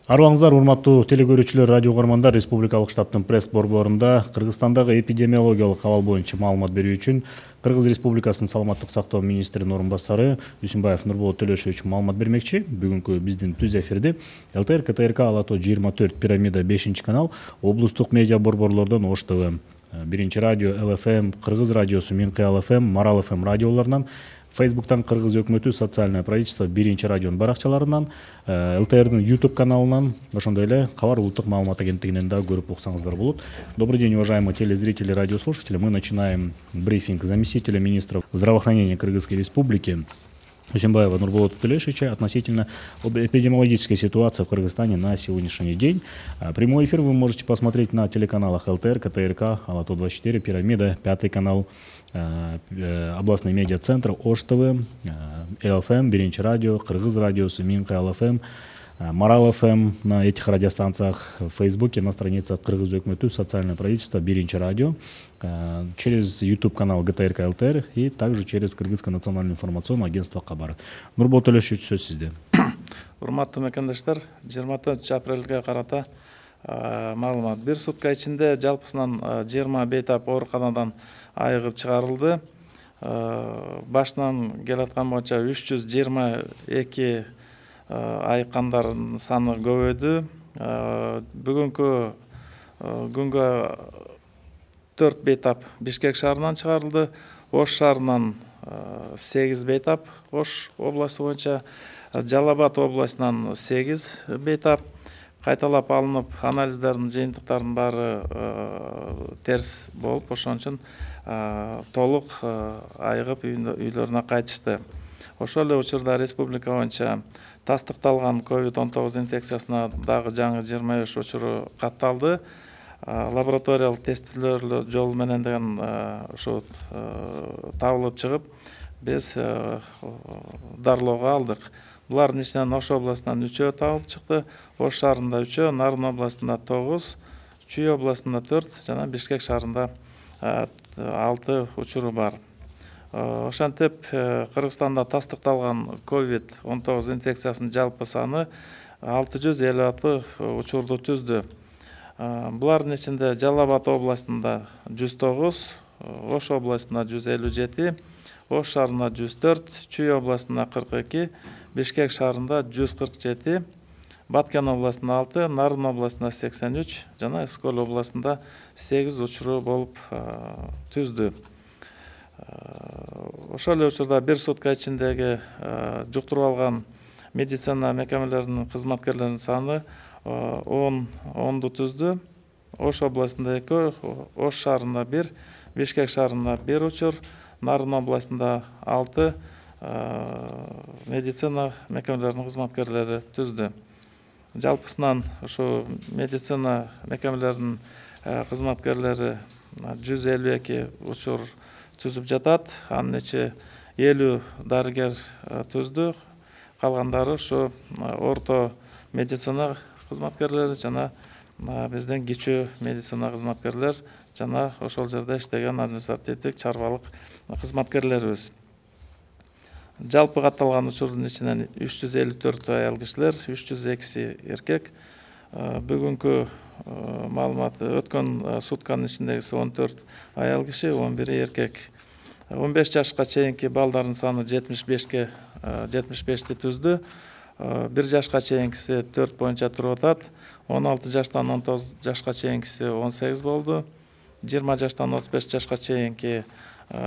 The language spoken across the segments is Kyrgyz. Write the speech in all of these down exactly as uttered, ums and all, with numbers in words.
Арыбаңыздар, урматтуу телекөрүүчүлөр, радио угармандар, Республикалык штабтын пресс борборунда Кыргызстандагы эпидемиологиялык абал боюнча маалымат берүү үчүн Кыргыз Республикасынын саламаттык сактоо министринин орун басары Дүйсүнбаев Нурболот Төлөшович маалымат бермекчи. Бүгүнкү биздин түз эфирди ЛТР, КТРК, Ала тоо жыйырма төрт, Пирамида бешинчи канал, облустук медиа борборлордон Ош ТВ, Биринчи радио, ЛФМ, Кыргыз радиосу, Минкы ЛФМ, Марал ФМ радиолорунан, Фейсбуктан Кыргыз өкмөтү социальное правительство биринчи радионун баракчаларынан, ЛТРдин YouTube каналынан, ошондой эле Кабар улуттук маалымат агенттигинен да көрүп уксаңыздар болот. Добрый день, уважаемые телезрители, радиослушатели. Мы начинаем брифинг заместителя министра здравоохранения Кыргызской Республики Дүйсүнбаева Нурболота Төлөшовича относительно эпидемиологической ситуации в Кыргызстане на сегодняшний день. Прямой эфир вы можете посмотреть на телеканалах ЛТР, КТРК, Ала тоо двадцать четыре, Пирамида, Пятый канал, областный медиа-центр, Ош ТВ, ЛФМ, Биринчи радио, Кыргыз радиосу, Минкы ЛФМ, Марал ФМ на этих радиостанциях, в Фейсбуке, на странице Кыргыз өкмөтү, социальное правительство, Биринчи радио, через YouTube-канал ГТРК ЛТР и также через Кыргызское национальное информационное агентство Кабар. Нурболот Төлөшович, сөз сизде. Урматтуу мекендештер, жыйырма төртүнчү апрелге карата маалымат. Бир сутка ичинде жалпысынан жыйырма бейтап ооруканадан айыгып чыгарылды. Башынан келаткан боюнча үч жүз жыйырма эки айыккандардын саны көбөйдү. Бүгүнкү күнгө төрт бейтап Бишкек шаарынан чыгарылды. Ош шаарынан сегиз бейтап, Ош областы боюнча, Жалал Абад областынан сегиз бейтап кайталап алынып, анализдердин жыйынтыктарынын баары терс болуп, ошон үчүн толук айыгып үйлөрүнө кайтышты. Ошол эле учурда республика боюнча тастыкталган ковид он тогуз инфекциясына дагы жаңы жыйырма беш учуру катталды. Лабораториялык тестилөө жолу менен деген ушу табылып чыгып, биз дарылоого алдык. Булардын ичинен Ош областынан үчөө табылып чыкты, Ош шаарында үчөө, Нарын областында тогуз, Чүй областында төрт жана Бишкек шаарында алты учуру бар. Ошентип Кыргызстанда тастыкталган ковид он тогуз инфекциясынын жалпы саны алты жүз элүү алты учурду түздү. Булардын ичинде Жалал Абад областында жүз тогуз, Ош областында жүз элүү жети, Ош шаарында жүз төрт, Чүй областында кырк эки, Бишкек шаарында жүз кырк жети, Баткен областында алты, Нарын областында сексен үч жана Эскөл областында сегиз учуру болуп түздү. Ошол эле учурда бир сутка ичиндеги жуктуруп алган медицина мекемелеринин кызматкерлеринин саны онду түздү. Ош областында эки, Ош шаарында бир, Бишкек шаарында бир учур, Нарын областында алты медицина мекемелеринин кызматкерлери түздү. Жалпысынан ушу медицина мекемелеринин кызматкерлери жүз элүү эки учур түзүп жатат. Анын ичи элүү дарыгер түздү. Калгандары ушу орто медицина кызматкерлери жана биздин кичүү медицина кызматкерлер жана ошол жерде иштеген административдик чарбалык кызматкерлерибиз. Жалпы катталган учурдун ичинен үч жүз элүү төрт аял кишилер, үч жүз экиси эркек. Бүгүнкү маалымат өткөн сутканын ичиндегиси он төрт аял киши, он бири эркек. он беш жашка чейинки балдардын саны жетимиш бешке жетимиш бешти түздү. бир жашка чейинкиси төрт боюнча туруп атат. он алты жаштан он тогуз жашка чейинкиси он сегиз болду. жыйырма жаштан отуз беш жашка чейинки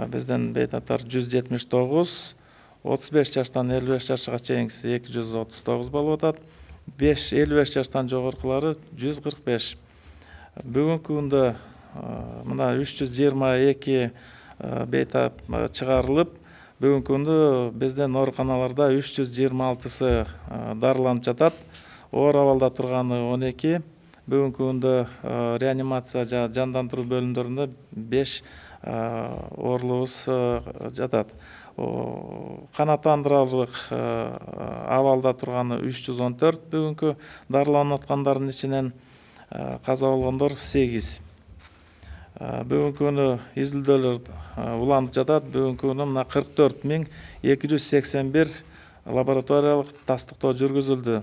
биздин бейтаптар жүз жетимиш тогуз, отуз беш жаштан элүү беш жашка чейинкиси эки жүз отуз тогуз болуп атат. элүү беш жаштан жогоркулары жүз кырк беш. Бүгүнкү күндө мына үч жүз жыйырма эки бейтап чыгарылып, бүгүнкү күндө биздин ооруканаларда үч жүз жыйырма алтысы дарыланып жатат. Оор абалда турганы он эки. Бүгүнкү күндө реанимация жана жандандыруу бөлүмдөрүндө беш оорулубуз жатат. Канааттандырарлык абалда турганы үч жүз он төрт, бүгүнкү дарыланып аткандардын ичинен каза болгондор сегиз. Бүгүнкү күнү изилдөөлөр уланып жатат. Бүгүнкү күнү мына кырк төрт миң эки жүз сексен бир лабораториялык тастыктоо жүргүзүлдү.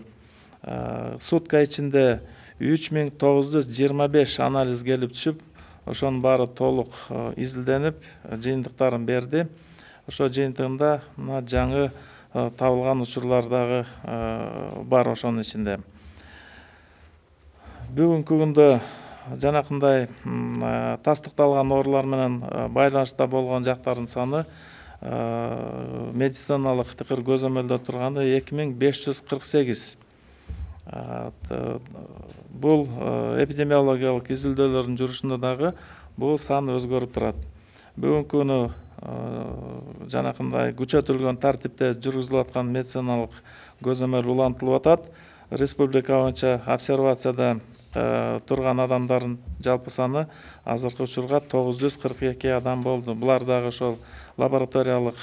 сутка ичинде үч миң тогуз жүз жыйырма беш анализ келип түшүп, ошонун баары толук изилденип, жыйынтыктарын берди. Ошо жыйынтыгында мына жаңы табылган учурлар дагы бар ошонун ичинде. Бүгүнкү күндө жанакындай тастыкталган оорулар менен байланышта болгон жактардын саны медициналык тыкыр көзөмөлдө турганы эки миң беш жүз кырк сегиз. Бул эпидемиологиялык изилдөөлөрдүн жүрүшүндө дагы бул сан өзгөрүп турат. Бүгүнкү күнү жанакындай күчөтүлгөн тартипте жүргүзүлүп аткан медициналык көзөмөл улантылып атат. Республика боюнча обсервацияда турган адамдардын жалпы саны азыркы учурга тогуз жүз кырк эки адам болду. Булар дагы ошол лабораториялык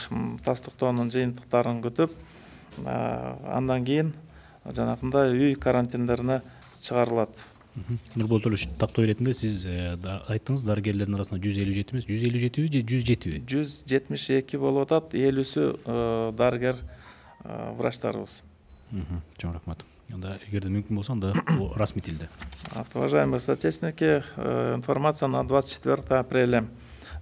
тастыктоонун жыйынтыктарын күтүп, андан кийин жанакындай үй карантиндерине чыгарылат. Нурбол Төлөш, тактоо иретинде сиз айттыңыз, дарыгерлердин арасында жүз элүү жети эмес, жүз элүү жетиби же жүз жетиби? жүз жетимиш эки болуп атат, элүүсү дарыгер врачтарыбыз. Чоң рахмат. Анда эгерде мүмкүн болсо, анда расмий тилде. Уважаемые соотечественники, информация на двадцать четвёртое апреля.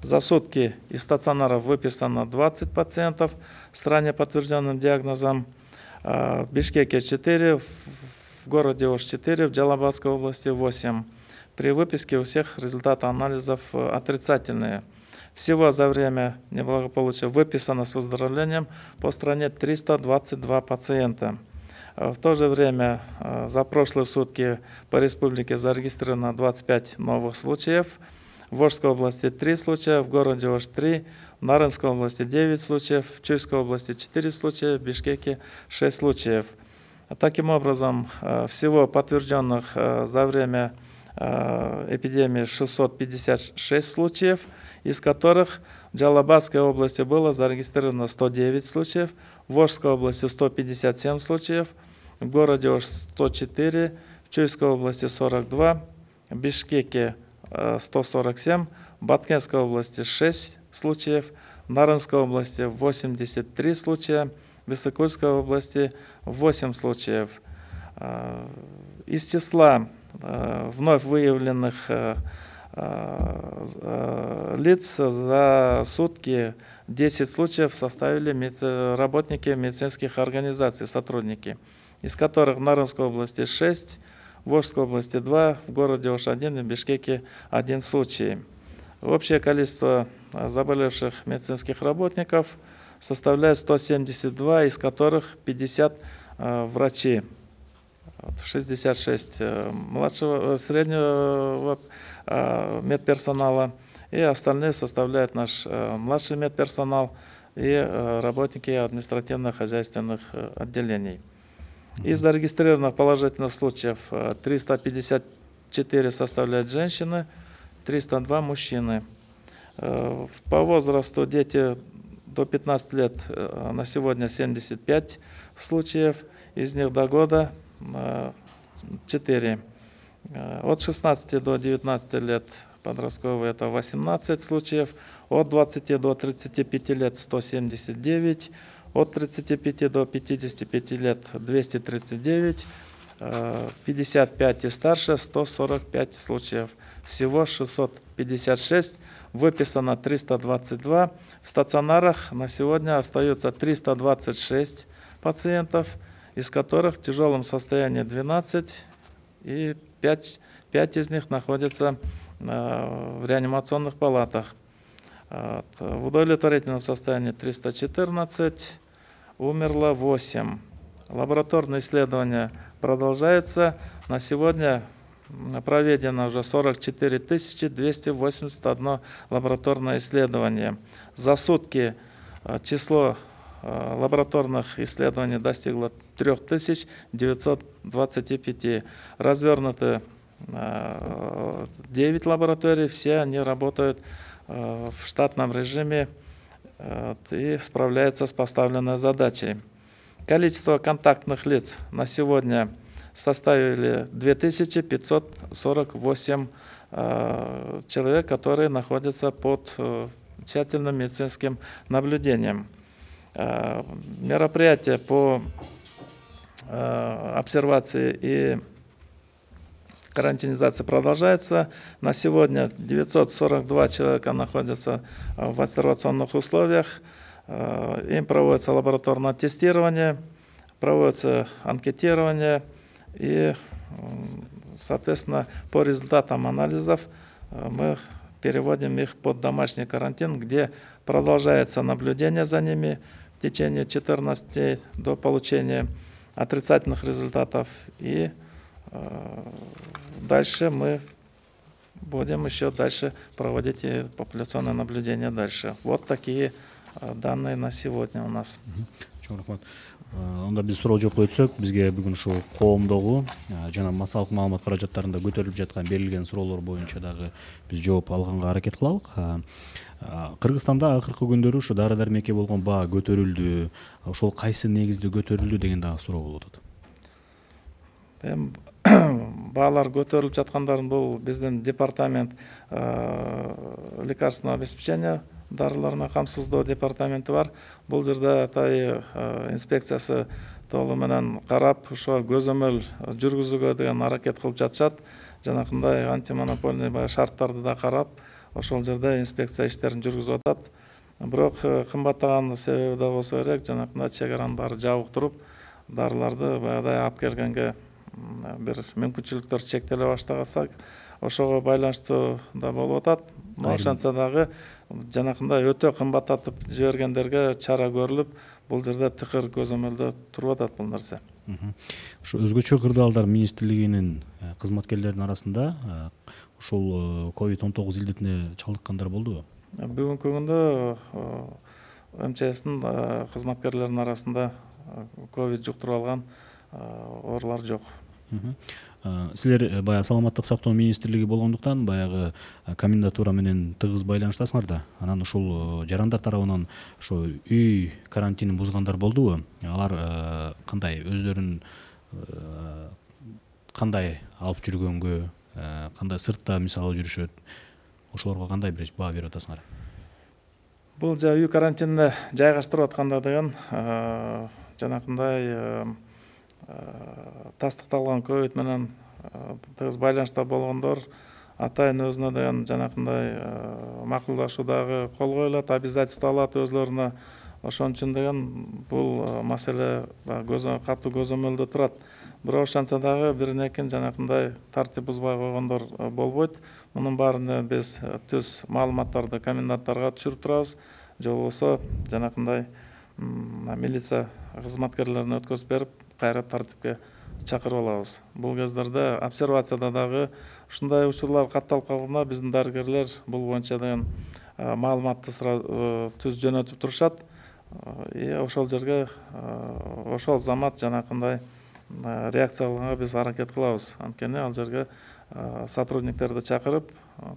За сутки из стационаров выписано двадцать пациентов с ранее подтвержденным диагнозом. В Бишкеке четыре, в городе Ош четыре, в Джалабадской области восемь. При выписке у всех результаты анализов отрицательные. Всего за время неблагополучия выписано с выздоровлением по стране триста двадцать два пациента. В то же время за прошлые сутки по республике зарегистрировано двадцать пять новых случаев. В Ошской области три случая, в городе Ош три, в Нарынской области девять случаев, в Чуйской области четыре случая, в Бишкеке шесть случаев. Таким образом, всего подтвержденных за время эпидемии шестьсот пятьдесят шесть случаев, из которых в Джалабадской области было зарегистрировано сто девять случаев, в Ошской области сто пятьдесят семь случаев, в городе Ош сто четыре, в Чуйской области сорок два, в Бишкеке сто сорок семь, в Баткенской области шесть случаев, в Нарынской области восемьдесят три случая, в Иссыкульской области восемь случаев. Из числа вновь выявленных лиц за сутки десять случаев составили работники медицинских организаций, сотрудники, из которых в Нарынской области шесть, в Ошской области два, в городе Ош один и в Бишкеке один случай. Общее количество заболевших медицинских работников составляет сто семьдесят два, из которых пятьдесят врачи, шестьдесят шесть младшего, среднего медперсонала, и остальные составляют наш младший медперсонал и работники административно-хозяйственных отделений. Из зарегистрированных положительных случаев триста пятьдесят четыре составляют женщины, триста два мужчины. По возрасту дети до пятнадцати лет на сегодня семьдесят пять случаев, из них до года четыре. От шестнадцати до девятнадцати лет подростковые это восемнадцать случаев, от двадцати до тридцати пяти лет сто семьдесят девять, от тридцати пяти до пятидесяти пяти лет двести тридцать девять, пятьдесят пять и старше сто сорок пять случаев. Всего шестьсот пятьдесят шесть, выписано триста двадцать два. В стационарах на сегодня остается триста двадцать шесть пациентов, из которых в тяжелом состоянии двенадцать, и пять, пять из них находятся в реанимационных палатах. В удовлетворительном состоянии триста четырнадцать, умерло восемь. Лабораторные исследования продолжаются. На сегодня проведено уже сорок четыре тысячи двести восемьдесят одно лабораторное исследование. За сутки число лабораторных исследований достигло три тысячи девятьсот двадцать пять. Развернуты девять лабораторий, все они работают в штатном режиме и справляются с поставленной задачей. Количество контактных лиц на сегодня составили две тысячи пятьсот сорок восемь человек, которые находятся под тщательным медицинским наблюдением. Мероприятия по обсервации и карантинизация продолжается. На сегодня девятьсот сорок два человека находятся в обсервационных условиях. Им проводится лабораторное тестирование, проводится анкетирование и, соответственно, по результатам анализов мы переводим их под домашний карантин, где продолжается наблюдение за ними в течение четырнадцати дней до получения отрицательных результатов. И дальше мы будем еще дальше проводить и популяционное наблюдение дальше. Вот такие данные на сегодня у нас. Чоң рахмат. Онда биз суроо жоопко өтсөк, бизге бүгүн ушул коомдогу жана массалык маалымат каражаттарында көтөрүлүп жаткан берилген суроолор боюнча дагы биз жооп алганга аракет кылалык. Кыргызстанда акыркы күндөрү ушу дары дармекке болгон баа көтөрүлдү. Ошол кайсы негизде көтөрүлдү деген дагы суроо болуп атат. Эми баалар көтөрүлүп жаткандарын бул биздин департамент лекарственного обеспечения дарыларына камсыздоо департаменти бар. Бул жерде атай инспекциясы толугу менен карап, ошо көзөмөл жүргүзүүгө деген аракет кылып жатышат. Жанакындай антимонопольный шарттарды да карап, ошол жерде инспекция иштерин жүргүзүп атат. Бирок кымбаттаган себеби да болсо керек, жанакындай чек аранын баары жабык туруп, дарыларды баягыдай алып келгенге бир мүмкүнчүлүктөр чектеле баштагансак, ошого байланыштуу да болуп атат. Ошентсе дагы жанакындай өтө кымбаттатып жибергендерге чара көрүлүп, бул жерде тыкыр көзөмөлдө туруп атат бул нерсе. Ушу өзгөчө кырдаалдар министрлигинин кызматкерлеринин арасында ушул ковид он тогуз илдетине чалдыккандар болдубу? Бүгүнкү күндө МЧСтин кызматкерлеринин арасында ковид жуктуруп алган оорулар жок. Силер баягы саламаттык сактоо министрлиги болгондуктан баягы комендатура менен тыгыз байланыштасыңар да. Анан ушул жарандар тарабынан ошо үй карантинин бузгандар болдубу? Алар кандай өздөрүн кандай алып жүргөнгө, кандай сыртта мисалы жүрүшөт? Ошолорго кандай бир баа берип атасыңар? Бул жа үй карантинине жайгаштырып атканда деген жанакындай тастыкталган ковид менен тыгыз байланышта болгондор атайын өзүнө деген жанакындай макулдашуудагы кол коюлат, обязательство алат өзлөрүнө. Ошон үчүн деген бул маселе катуу көзөмөлдө турат. Бирок ошентсе дагы биринекин жанакындай тартип бузбай койгондор болбойт. Мунун баарына биз түз маалыматтарды коменданттарга түшүрүп турабыз. Же болбосо жанакындай милиция кызматкерлерине өткөзүп берип, кайра тартипке чакырып алабыз. Бул кездерде обсервацияда дагы ушундай учурлар катталып калганда биздин дарыгерлер бул боюнча деген маалыматты түз жөнөтүп турушат. И ошол жерге ошол замат жанакындай реакция кылганга биз аракет кылабыз. Анткени ал жерге сотрудниктерди чакырып,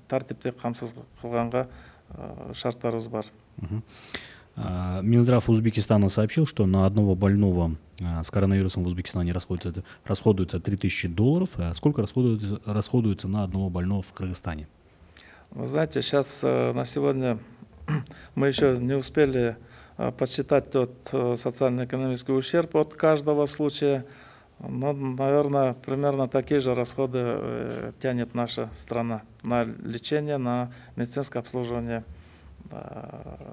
тартипти камсыз кылганга шарттарыбыз бар. Минздрав Узбекистана сообщил, что на одного больного с коронавирусом в Узбекистане расходуется, расходуется три тысячи долларов. А сколько расходуется, расходуется на одного больного в Кыргызстане? Вы знаете, сейчас на сегодня мы еще не успели подсчитать тот социально-экономический ущерб от каждого случая. Но, наверное, примерно такие же расходы тянет наша страна на лечение, на медицинское обслуживание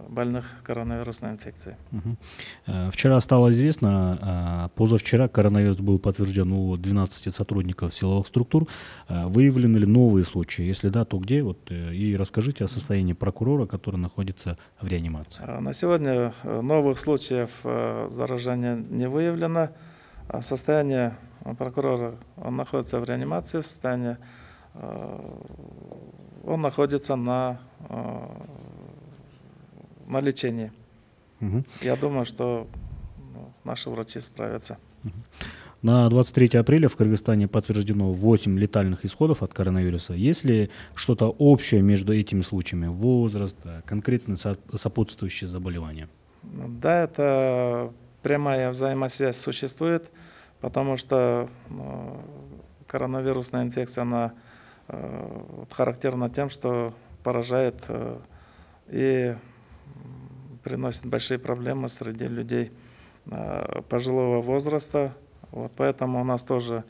больных коронавирусной инфекцией. Угу. Вчера стало известно, позавчера коронавирус был подтвержден у двенадцати сотрудников силовых структур. Выявлены ли новые случаи? Если да, то где? Вот, и расскажите о состоянии прокурора, который находится в реанимации. На сегодня новых случаев заражения не выявлено. Состояние прокурора, он находится в реанимации, состояние, он находится на на лечении. Угу. Я думаю, что ну, наши врачи справятся. Угу. На двадцать третье апреля в Кыргызстане подтверждено восемь летальных исходов от коронавируса. Есть ли что-то общее между этими случаями? Возраст, конкретно сопутствующие заболевания? Да, это прямая взаимосвязь существует, потому что ну, коронавирусная инфекция, она э, характерна тем, что поражает э, и приносит большие проблемы среди людей пожилого возраста, Вот поэтому у нас тоже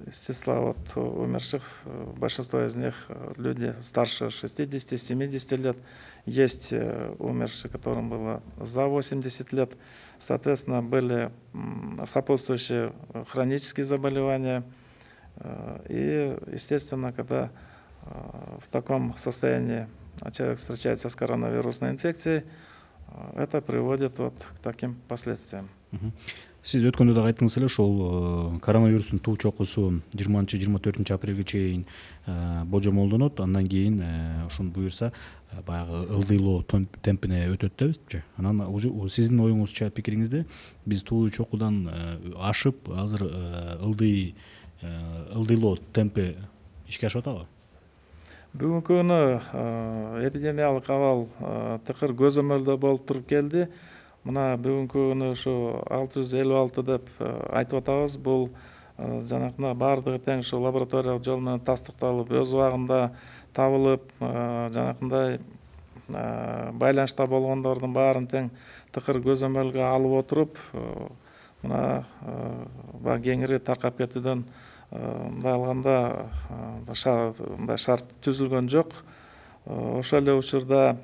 из числа вот умерших, большинство из них люди старше шестидесяти-семидесяти лет. Есть умершие, которым было за восемьдесят лет. Соответственно, были сопутствующие хронические заболевания. И, естественно, когда в таком состоянии человек встречается с коронавирусной инфекцией, это приводит вот к таким последствиям. Сиз өткөндө да айттыңыз эле, ошол коронавирустун туу чокусу жыйырманчы жыйырма төртүнчү апрелге чейин божомолдонот. Андан кийин ошону буюрса баягы ылдыйлоо темпине өтөт депчи. Анан сиздин оюңузча, пикириңизде биз туу чокудан ашып, азыр ылдый ылдыйлоо темпи ишке ашып атабы? Бүгүнкү күнү эпидемиялык абал тыкыр көзөмөлдө болуп туруп келди. Мына бүгүнкү күнү ушу алты жүз элүү алты деп айтып атабыз. Бул жанакындай баардыгы тең ушу лабораториялык жол менен тастыкталып, өз убагында табылып, жанакындай байланышта болгондордун баарын тең тыкыр көзөмөлгө алып отуруп, мына баягы кеңири таркап кетүүдөн мындай алганда мындай шарт түзүлгөн жок. Ошол эле учурда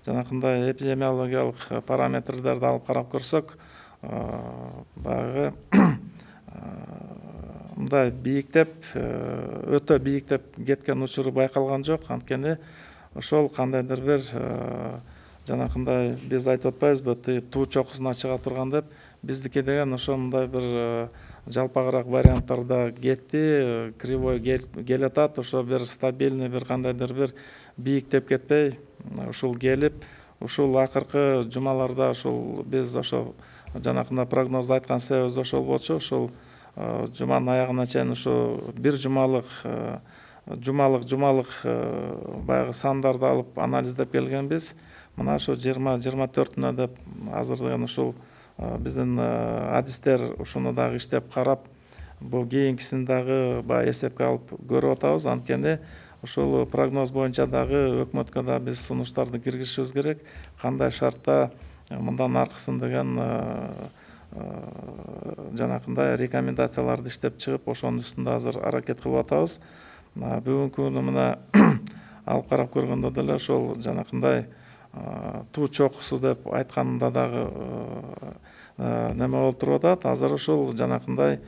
жанакындай эпидемиологиялык параметрлерди алып карап көрсөк, баягы мындай бийиктеп, өтө бийиктеп кеткен учуру байкалган жок. Анткени ошол кандайдыр бир жанакындай биз айтып атпайбызбы, туу чокусуна чыга турган деп, биздики деген ошондой бир жалпагыраак варианттарда кетти, кривой келатат, ошо бир стабильный бир кандайдыр бир бийиктеп кетпей, ушул келип, ушул акыркы жумаларда ушул биз ошо жанакындай прогнозду айткан себебибиз ошол болчу. Ушул жуманын аягына чейин ушу бир жумалык жумалык жумалык баягы сандарды алып анализдеп келгенбиз. Мына ошо жыйырма жыйырма төртүнө деп азыр деген ушул биздин адистер ушуну дагы иштеп карап, бул кийинкисин дагы баягы эсепке алып көрүп атабыз. Анткени ушул прогноз боюнча дагы өкмөткө да биз сунуштарды киргизишибиз керек. Кандай шартта мындан аркысын деген жанакындай рекомендацияларды иштеп чыгып, ошонун үстүндө азыр аракет кылып атабыз. Бүгүнкү күнү мына алып карап көргөндө деле ошол жанакындай туу чокусу деп айтканда дагы неме болуп туруп атат. Азыр ушул жанакындай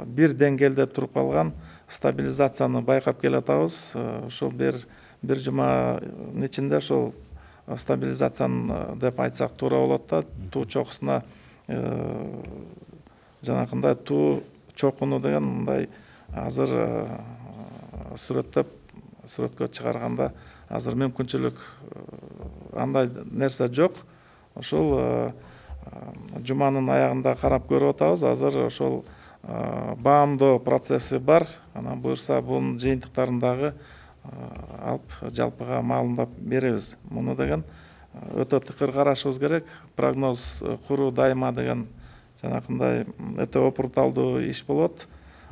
бир деңгээлде туруп калган стабилизацияны байкап келатабыз. Ошол бир бир жуманын ичинде ошол стабилизацияны деп айтсак туура болот да. Туу чокусуна жанакындай туу чокуну деген мындай азыр сүрөттөп сүрөткө чыгарганда азыр мүмкүнчүлүк андай нерсе жок. Ошол жуманын аягында карап көрүп атабыз. Азыр ошол баамдоо процесси бар. Анан буюрса бунун жыйынтыктарын дагы алып жалпыга маалымдап беребиз. Муну деген өтө тыкыр карашыбыз керек. Прогноз куруу дайыма деген жанакындай өтө опурталдуу иш болот.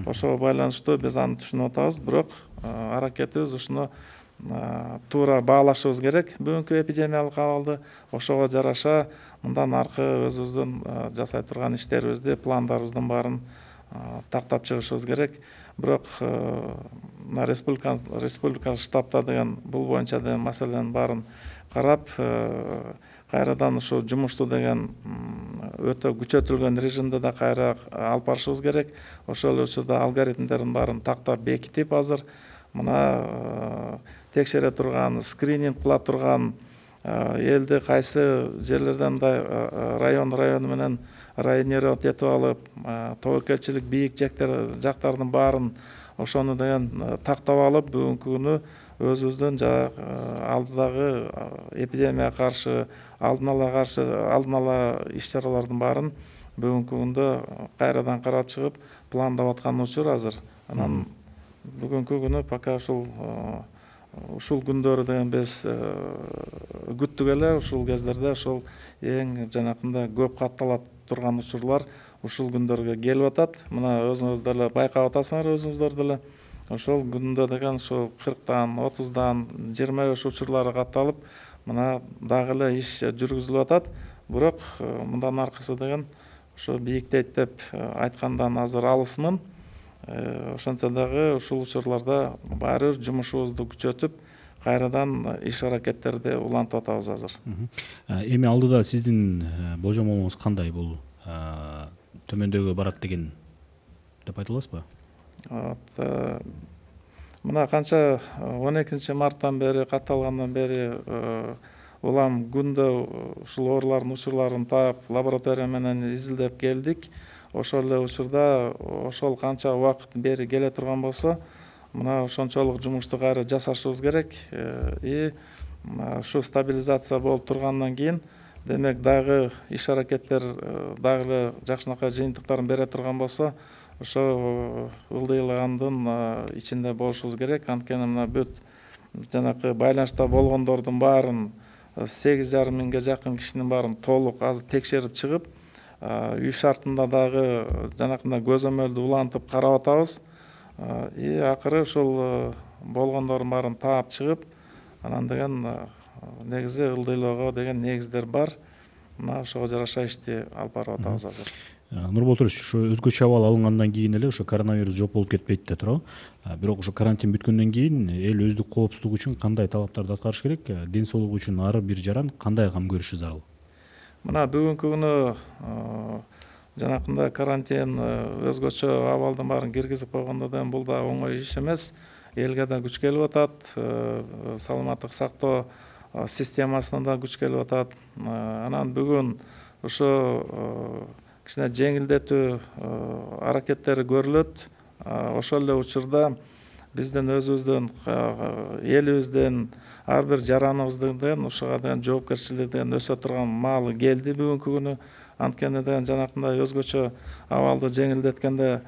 Ошого байланыштуу биз аны түшүнүп атабыз, бирок аракетибиз ушуну туура баалашыбыз керек. Бүгүнкү эпидемиялык абалды ошого жараша мындан аркы өзүбүздүн жасай турган иштерибизди, пландарыбыздын баарын тактап чыгышыбыз керек. Бирок мына республикалык штабта деген бул боюнча деген маселенин баарын карап, кайрадан ушу жумушту деген өтө күчөтүлгөн режимде да кайра алып барышыбыз керек. Ошол эле учурда алгоритмдердин баарын тактап бекитип, азыр мына текшере турган, скрининг кыла турган, элди кайсы жерлерден мындай район району менен районировать этип алып, тобокелчилик бийик жактардын баарын ошону деген тактап алып, бүгүнкү күнү өзүбүздүн алдыдагы эпидемияга каршы алдын ала каршы алдын ала иш-чаралардын баарын бүгүнкү күндө кайрадан карап чыгып пландап аткан учур азыр. Анан бүгүнкү күнү пока ушул ушул күндөрү деген биз күттүк эле. Ушул кездерде ошол эң жанакындай көп катталат турган учурлар ушул күндөргө келип атат. Мына өзүңүз деле байкап атасыңар, өзүңүздөр деле. Ошол күндө деген ошол кырктан, отуздан, жыйырма беш учурлары катталып, мына дагы эле иш жүргүзүлүп атат. Бирок мындан аркысы деген ошо бийиктейт деп айткандан азыр алысмын. Ошентсе дагы ушул учурларда баары бир жумушубузду күчөтүп, кайрадан иш аракеттерди улантып атабыз азыр. Эми алдыда сиздин болжомолуңуз кандай? Бул төмөндөгө барат деген деп айта аласызбы? Мына канча он экинчи марттан бери катталгандан бери улам күндө ушул оорулардын учурларын таап, лаборатория менен изилдеп келдик. Ошол эле учурда ошол канча убакыт бери келе турган болсо, мына ошончолук жумушту кайра жасашыбыз керек. И ушу стабилизация болуп тургандан кийин, демек дагы иш аракеттер дагы эле жакшынакай жыйынтыктарын бере турган болсо, ошо ылдыйлагандын ичинде болушубуз керек. Анткени мына бүт жанакы байланышта болгондордун баарын, сегиз жарым миңге жакын кишинин баарын толук азыр текшерип чыгып, үй шартында дагы жанакындай көзөмөлдү улантып карап атабыз. И акыры ушул болгондордун баарын таап чыгып, анан деген негизи ылдыйлоого деген негиздер бар. Мына ошого жараша ишти алып барып атабыз азыр. Нурбол Турович, ушу өзгөчө абал алынгандан кийин эле ошо коронавирус жок болуп кетпейт да туурабы? Бирок ошо карантин бүткөндөн кийин эл өздүк коопсуздугу үчүн кандай талаптарды аткарыш керек? Ден соолугу үчүн ар бир жаран кандай кам көрүшү зарыл? Мына бүгүнкү күнү жанакындай карантин өзгөчө абалдын баарын киргизип койгондон бул да оңой иш эмес. Элге да күч келип атат, саламаттык сактоо системасына да күч келип атат. Анан бүгүн ошо кичине жеңилдетүү аракеттери көрүлөт. Ошол эле учурда биздин өзүбүздүн, элибиздин, ар бир жараныбыздын ушуга деген жоопкерчилиги деген өсө турган маалы келди бүгүнкү күнү. Анткени деген жанакындай өзгөчө абалды жеңилдеткенде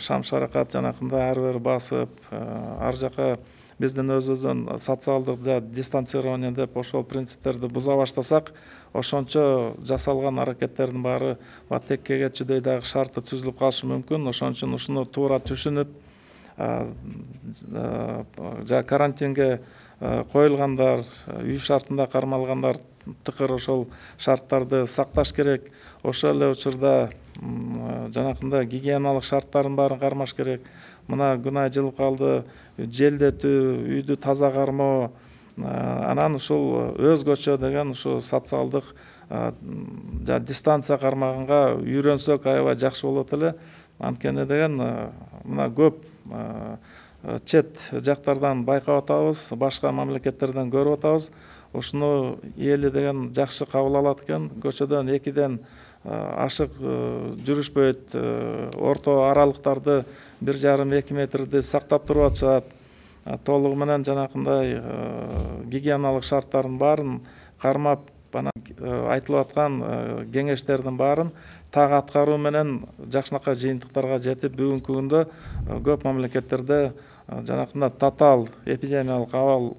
шам шаракат жанакындай ар бир басып, ар жака биздин өзүбүздүн социалдык дистанцирование деп ошол принциптерди буза баштасак, ошончо жасалган аракеттердин баары текке кетчүдөй дагы шарты түзүлүп калышы мүмкүн. Ошон үчүн ушуну туура түшүнүп, карантинге коюлгандар, үй шартында кармалгандар тыкыр ошол шарттарды сакташ керек. Ошол эле учурда жанакындай гигиеналык шарттардын баарын кармаш керек. Мына күн ай жылып калды, желдетүү, үйдү таза кармоо, анан ушул өзгөчө деген ушу социалдык дистанция кармаганга үйрөнсөк аябай жакшы болот эле. Анткени деген мына көп чет жактардан байкап атабыз, башка мамлекеттерден көрүп атабыз. Ушуну эли деген жакшы кабыл алат экен. Көчөдөн экиден ашык жүрүшпөйт, орто аралыктарды бир жарым эки метрди сактап туруп атышат. Толугу менен жанакындай гигиеналык шарттардын баарын кармап, анан айтылып аткан кеңештердин баарын так аткаруу менен жакшынакай жыйынтыктарга жетип, бүгүнкү күндө көп мамлекеттерде жанакындай татаал эпидемиялык абал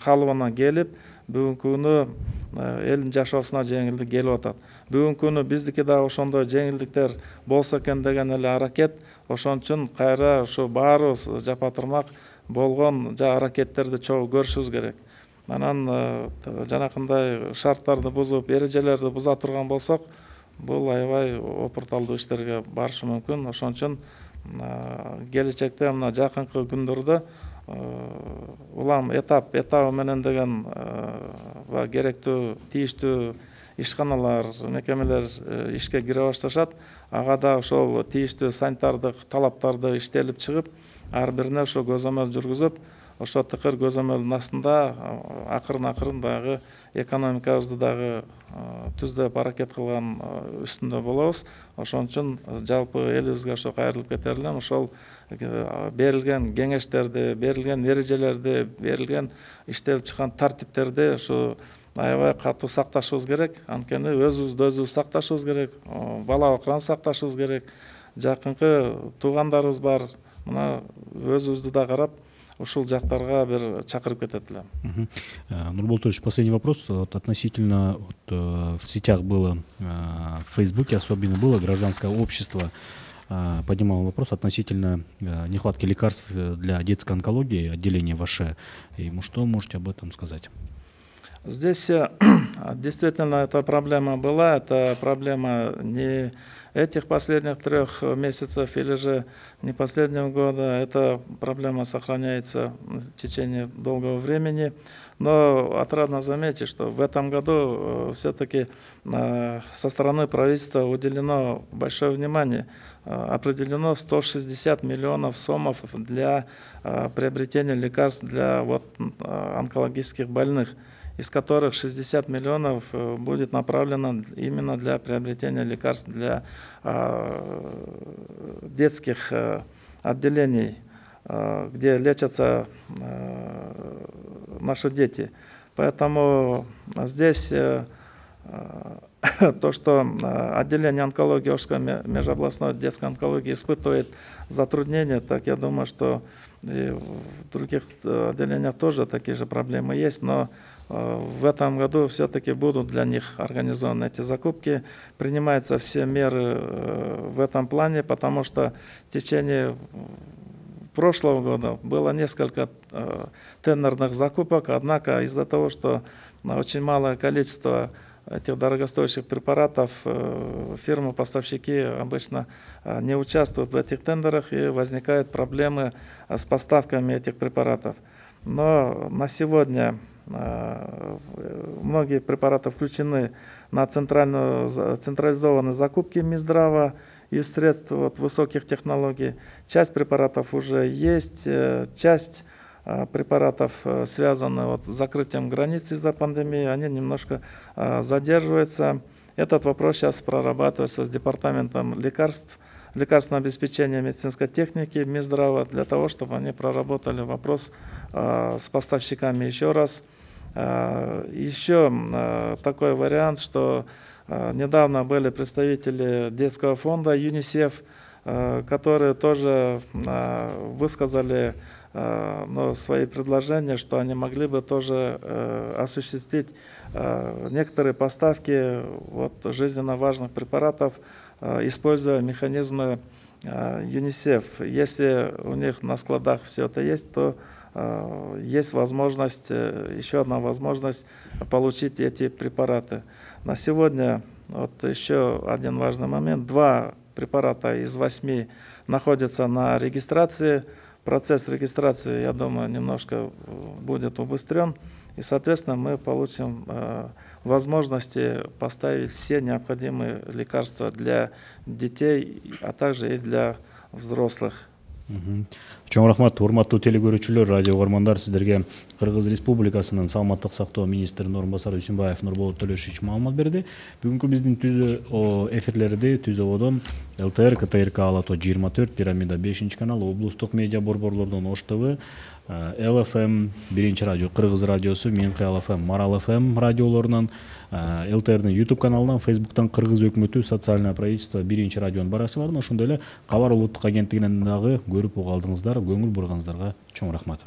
калыбына келип, бүгүнкү күнү элдин жашоосуна жеңилдик келип атат. Бүгүнкү күнү биздики да ошондой жеңилдиктер болсо экен деген эле аракет. Ошон үчүн кайра ушу баарыбыз жапа-турмак болгон аракеттерди чогуу көрүшүбүз керек. Анан жанакындай шарттарды бузуп, эрежелерди буза турган болсок, бул аябай опурталдуу иштерге барышы мүмкүн. Ошон үчүн келечекте мына жакынкы күндөрдө улам этап этабы менен деген керектүү тийиштүү ишканалар, мекемелер ишке кире башташат. Ага да ошол тийиштүү санитардык талаптарды иштелип чыгып, ар бирине ошо көзөмөл жүргүзүп, ошо тыкыр көзөмөлдүн астында акырын акырын дагы экономикабызды дагы түздөп аракет кылган үстүндө болобуз. Ошон үчүн жалпы элибизге ошо кайрылып кетер элем. Ошол берилген кеңештерди, берилген эрежелерди, берилген иштелип чыккан тартиптерди ушу аябай катуу сакташыбыз керек. Анткени өзүбүздү өзүбүз сакташыбыз керек, бала бакыраны сакташыбыз керек. Жакынкы туугандарыбыз бар. Мына өзүбүздү да карап, ушул жактарга бир чакырып кетет элем. Нурбол Турович, последний вопрос. Вот относительно вот, в сетях было, в Фейсбуке особенно было, гражданское общество поднимало вопрос относительно нехватки лекарств для детской онкологии, отделения ваше. И что можете об этом сказать? Здесь действительно эта проблема была, это проблема не этих последних трех месяцев или же не последнего года, эта проблема сохраняется в течение долгого времени. Но отрадно заметить, что в этом году все-таки со стороны правительства уделено большое внимание. Определено сто шестьдесят миллионов сомов для приобретения лекарств для вот онкологических больных, из которых шестьдесят миллионов будет направлено именно для приобретения лекарств для детских отделений, где лечатся наши дети. Поэтому здесь то, что отделение онкологии Ошской межобластной детской онкологии испытывает затруднения, так я думаю, что и в других отделениях тоже такие же проблемы есть, но в этом году все-таки будут для них организованы эти закупки. Принимаются все меры в этом плане, потому что в течение прошлого года было несколько тендерных закупок, однако из-за того, что очень малое количество этих дорогостоящих препаратов, фирмы-поставщики обычно не участвуют в этих тендерах, и возникают проблемы с поставками этих препаратов. Но на сегодня многие препараты включены на центральную, централизованные закупки Минздрава и средств вот, высоких технологий. Часть препаратов уже есть, часть препаратов, связанных вот, с закрытием границ из-за пандемии, они немножко задерживаются. Этот вопрос сейчас прорабатывается с департаментом лекарств, лекарственного обеспечения медицинской техники Минздрава, для того, чтобы они проработали вопрос с поставщиками еще раз. Еще такой вариант, что недавно были представители детского фонда ЮНИСЕФ, которые тоже высказали но свои предложения, что они могли бы тоже осуществить некоторые поставки вот, жизненно важных препаратов, используя механизмы ЮНИСЕФ. Если у них на складах все это есть, то есть возможность, еще одна возможность получить эти препараты. На сегодня вот еще один важный момент. Два препарата из восьми находятся на регистрации. Процесс регистрации, я думаю, немножко будет убыстрен. И, соответственно, мы получим э, возможности поставить все необходимые лекарства для детей, а также и для взрослых. Чоң рахмат, урматтуу телекөрүүчүлөр, радио угармандар, сиздерге Кыргыз Республикасынын саламаттык сактоо министринин орун басары Үсүнбаев Нурболот Төлөшович маалымат берди. Бүгүнкү биздин түзө эфирлерди Түзө Одон, ЛТР, КТРК Алато жыйырма төрт, Пирамида бешинчи канал, облустук медиа борборлордон Ош ТВ, Л Ф М, биринчи радио, Кыргыз радиосу, Менки Л Ф М, Марал Ф М радиолорунан, Л Т Р'нин YouTube каналынан, Facebook'tan Кыргыз өкмөтү, социальное правительство, биринчи радионун баракчаларынан, ошондой эле Кабар улуттук агенттигинен дагы көрүп уга алдыңыздар, көңүл бурганыңыздарга чоң рахмат.